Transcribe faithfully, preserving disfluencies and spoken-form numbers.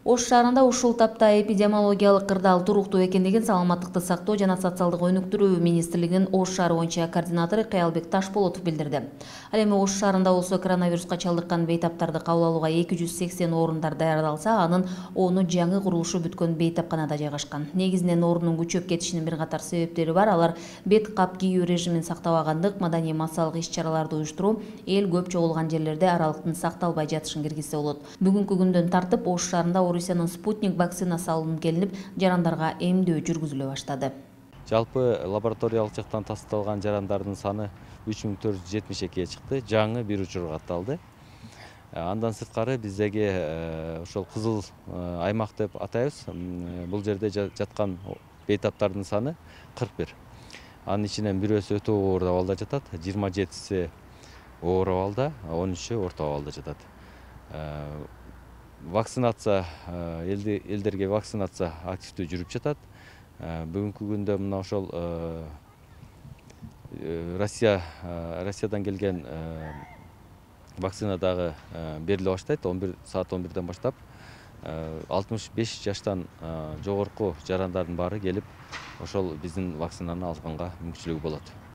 Ош шаарында ушул тапта эпидемиологиялык кырдаал туруктуу экендигин Саламаттыкты сактоо жана социалдык өнүктүрүү министрлигинин Ош шаары боюнча координатору Каялбек Ташболотов билдирди. Ал эми Ош шаарында болсо коронавируска чалдыккан бейтаптарды кабыл алууга эки жүз сексен орундар даярдалса, анын ону жаңы курулушу бүткөн бейтапканада жайгашкан. Негизинен орунун күчөп кетишинин бир катар себептери бар. Алар бет кап кийүү режимин сактабагандык, маданий массалык иш-чараларды уюштуруу, эл көп чогулган жерлерде аралыктын сакталбай жатышын киргизсе болот. Бүгүнкү күндөн тартып Ош шаарында Орусиянын спутник вакцинасы алынып келинип, жарандарга эмдөө жүргүзүлө баштады. Жалпы лабораториялык жактан тасталган жарандардын саны үч миң төрт жүз жетимиш экиге чыкты. Жаңы бир учур катталды. Андан сырткары биздеги ошол кызыл аймак деп атайбыз. Бул жерде жаткан бейтаптардын саны кырк бир. Анын ичинен бирөөсү өтө оор абалда жатат, жыйырма жетиси оор абалда, он үчү орто абалда жатат. Вакцинация элдерге вакцинация активдүү жүрүп жатат. Бүгүнкү күндө мына ошол Россия Россиядан келген вакцина дагы бериле баштайт. он бир саат он бирден баштап алтымыш беш жаштан жогорку жарандардын баары келип, ошол биздин вакцинаны алганга мүмкүнчүлүгү болот.